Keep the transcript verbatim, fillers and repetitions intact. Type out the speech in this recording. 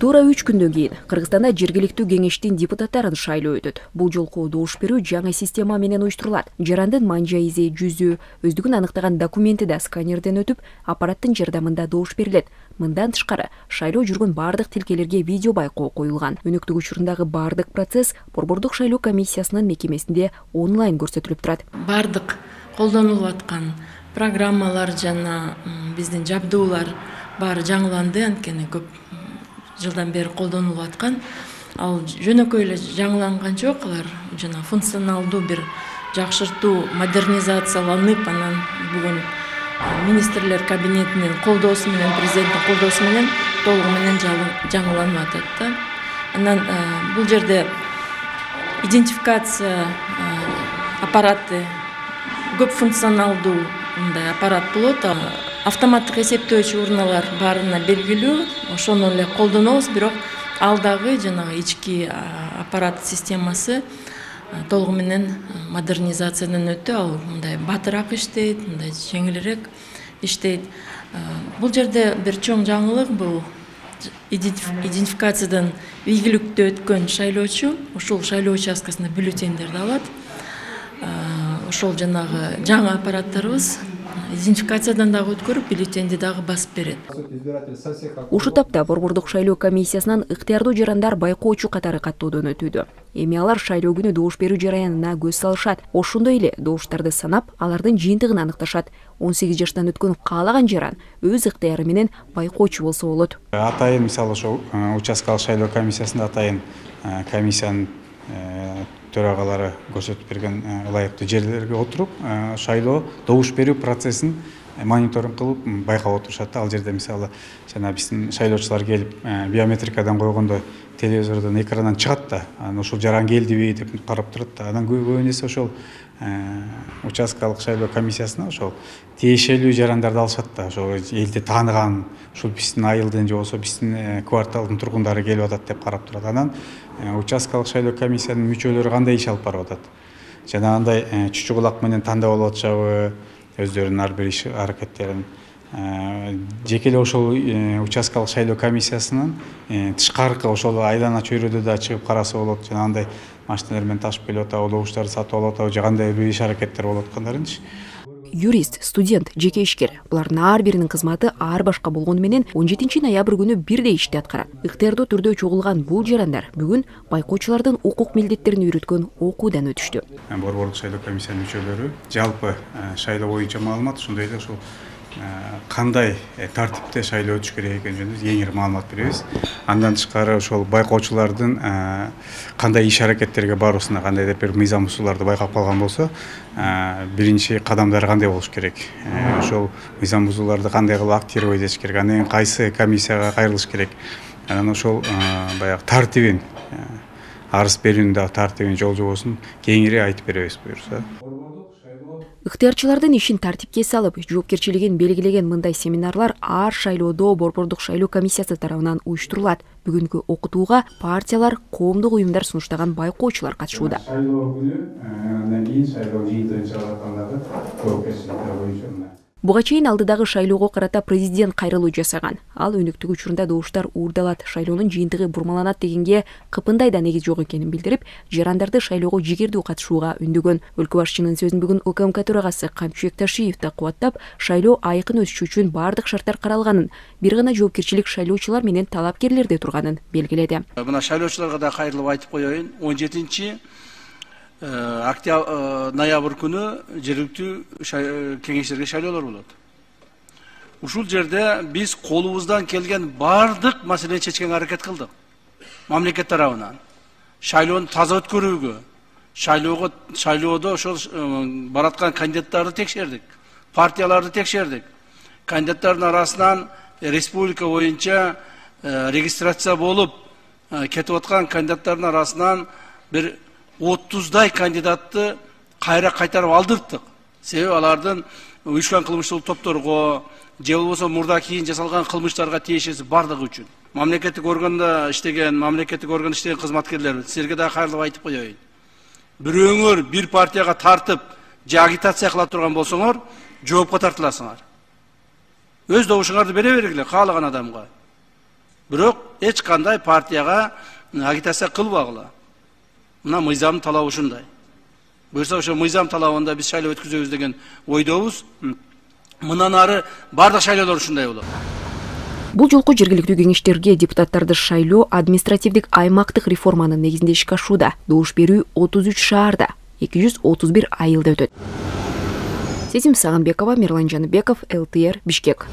Туура үч күндөн кийин Кыргызстанда жергиликтүү кеңештин депутаттарын шайлоо өтөт. Бул жолку добуш берүү жаңы система менен уюштурулат. Жарандын манжайизи, жүзү, өздүгүн аныктаган документи да сканерден өтүп, аппараттын жардамында добуш берилет. Мындан тышкары, шайлоо жүргөн бардык тилкелерге видео байкоо коюлган. Өнөктүк учурундагы бардык процесс Борбордук шайлоо комиссиясынын мекемесинде онлайн көрсөтүлүп турат. Бардык колдонулуп аткан программалар жана биздин жабдуулар баары жаңыланды, анткени көп жылдан бери колдонулуп аткан. Ал жөнөкөй эле жаңыланган жок, алар жана функционалдуу бир жакшыртуу, модернизацияланып, анан бүгүн министрлер кабинетинин колдоосу менен, президенттин колдоосу менен толугу менен жаңыланып атат да. Анан бул жерде идентификация аппараты көп функционалдуу мындай аппарат болот. Автоматтык эсептөөчү урналар баарына белгилүү, ошону эле колдонобуз, бирок ал дагы жанагы ички аппарат системасы толугу менен модернизациядан өттү. Ал мындай батыраак иштейт, мындай жеңилирээк иштейт. Бул жерде бир чоң жаңылык бул идентификациядан ийгиликтүү өткөн шайлоочу ушул шайлоо участкасында бюллетендерди алат. Ошол жанагы жаңы аппараттарыбыз идентификациядан дагы өткөрүп, бюллетенди дагы басып берет. Ушул тапта Борбордук шайлоо комиссиясынан ыктыярдуу жарандар байкоочу катары каттоодон өтүүдө. Эми алар шайлоо күнү добуш берүү жараянына көз салышат. Ошондой эле добуштарды санап, алардын жыйынтыгын аныкташат. он сегиз жаштан өткөн каалаган жаран өз ыктыяры менен байкоочу болсо болот. Атайын мисалы ошол участкалык шайлоо комиссиясында атайын комиссиянын төрагалары көрсөтүп берген ылайыктуу жерлерге отуруп, шайлоо добуш берүү процессин мониторинг кылып байкап отурушат. Ал жерде мисалы жана биздин шайлоочулар келип биометрикадан койгондо телевизордон экрандан чыгат да, анан ошол жаран келдиби деп карап турат да. Анан көбүн эсе ошол участкалык шайлоо комиссиясына ошол тиешелүү жарандарды алышат да. Ошол элди тааныган, ушул биздин айылдын же болбосо биздин кварталдын тургундары келип атат деп карап турат. Анан участкалык шайлоо комиссиянын мүчөлөрү кандай иш алып барып атат? Жанагындай чүчү кулак менен тандап алып атышабы, өздөрүнүн ар бир иш аракеттерин жеке эле ошол участкалык шайлоо комиссиясынын тышкаркы ошол айлана чөйрөдө да чыгып караса болот. Жанагындай машиналар менен ташып келип атабы, добуштарды сатып алып атабы, же кандай бир иш аракеттер болуп аткандарынчы. Юрист, студент, жеке ишкер. Булардын ар биринин кызматы ар башка болгону менен он жетинчи ноябрь күнү бирдей ишти аткарат. Ыктыярдуу түрдө чогулган бул жарандар бүгүн байкоочулардын укук милдеттерин үйрөткөн окуудан өтүштү. Борбордук шайлоо комиссиянын мүчөлөрү жалпы шайлоо боюнча маалымат, ошондой эле ошол кандай тартипте шайлоо өтүш керек экени жөнүндө кеңири маалымат беребиз. Андан тышкары ошол байкоочулардын кандай иш аракеттерге баруусуна кандайдыр бир мыйзам усулдарды байкап калган болсо, биринчи кадамдары кандай болуш керек? Ошол мыйзам усулдарды кандай кылып актировать этиш керек? Андан кийин кайсы комиссияга кайрылыш керек? Анан ошол баягы тартибин, арыз берүүнүн дагы тартибин, жол жобосун кеңири айтып беребиз буюрса. Ыктыярчылардын ишин тартипке салып, жоопкерчилигин белгилеген мындай семинарлар ар шайлоодо Борбордук шайлоо комиссиясы тарабынан уюштурулат. Бүгүнкү окутууга партиялар, коомдук уюмдар сунуштаган байкоочулар катышууда. Шайлоо күнү андан кийин шайлоо жыйынтыгын чыгарып аткандагы жоопкерчиликтер боюнча. Буга чейин алдыдагы шайлоого карата президент кайрылуу жасаган. Ал өнөктүк учурунда добуштар уурдалат, шайлоонун жыйынтыгы бурмаланат дегенге кыпындай да негиз жок экенин билдирип, жарандарды шайлоого жигердүү катышууга үндөгөн. Өлкө башчынын сөзүн бүгүн УКМК төрагасы Камчыбек Ташиев да кубаттап, шайлоо айкын өтүшү үчүн бардык шарттар каралганын, бир гана жоопкерчилик шайлоочулар менен талапкерлерде турганын белгиледи. Мына шайлоочуларга да кайрылып айтып коеюн, он жетинчи ноябрь күнү жергиликтүү кеңештерге шайлоолор болот. Ушул жерде биз колубуздан келген бардык маселени чечкенге аракет кылдык. Мамлекет тарабынан шайлоону таза өткөрүүгө, шайлоого шайлоодо ошол бараткан кандидаттарды текшердик, партияларды текшердик. Кандидаттардын арасынан республика боюнча регистрация болуп кетип аткан кандидаттардын арасынан бир отуздай кандидатты кайра кайтарып алдырттык. Себеби алардын уюшкан кылмыштуу топторго же болбосо мурда кийин жасалган кылмыштарга тиешеси бардыгы үчүн. Мамлекеттик органда иштеген, мамлекеттик органда иштеген кызматкерлер, силерге да кайрылып айтып коеюн. Бирөөңөр бир партияга тартып, же агитация кыла турган болсоңор, жоопко тартыласыңар. Өз добушуңарды бере бергиле каалаган адамга. бирок эч кандай партияга агитация кылбагыла. Мына мыйзам талабы ушундай. Буюрса ошо мыйзам талабында биз шайлоо өткүзөбүз деген ойдобуз. Мындан ары бардык шайлоолор ушундай болот. Бул жолку жергиликтүү кеңештерге депутаттарды шайлоо административдик аймактык реформанын негизинде ишке ашууда. Добуш берүү отуз үч шаарда, эки жүз отуз бир айылда өтөт. Сезим Сагынбекова, Мирлан Жаныбеков, эл тэ эр, Бишкек.